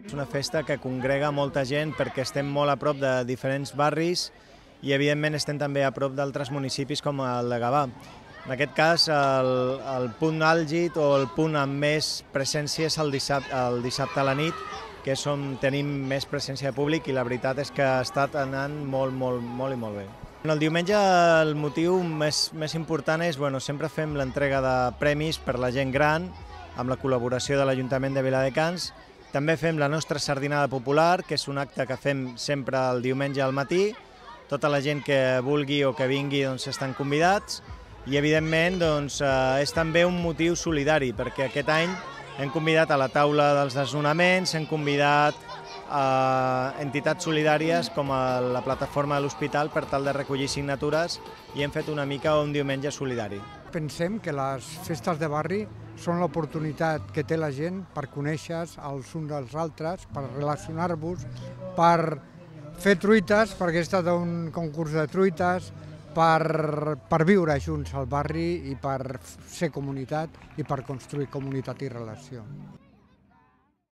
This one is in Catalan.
És una festa que congrega molta gent perquè estem molt a prop de diferents barris i evidentment estem també a prop d'altres municipis com el de Gavà. En aquest cas el punt àlgid o el punt amb més presència és el dissabte a la nit, que és on tenim més presència de públic i la veritat és que ha estat anant molt i molt bé. El diumenge el motiu més important és, sempre fem l'entrega de premis per la gent gran amb la col·laboració de l'Ajuntament de Viladecans. També fem la nostra sardinada popular, que és un acte que fem sempre el diumenge al matí. Tota la gent que vulgui o que vingui estan convidats i evidentment és també un motiu solidari perquè aquest any hem convidat a la taula dels desnonaments, hem convidat a entitats solidàries com la plataforma de l'Hospital per tal de recollir signatures i hem fet una mica un diumenge solidari. Pensem que les festes de barri són l'oportunitat que té la gent per conèixer-se els uns dels altres, per relacionar-vos, per fer truites, perquè he estat a un concurs de truites, per viure junts al barri i per ser comunitat i per construir comunitat i relació.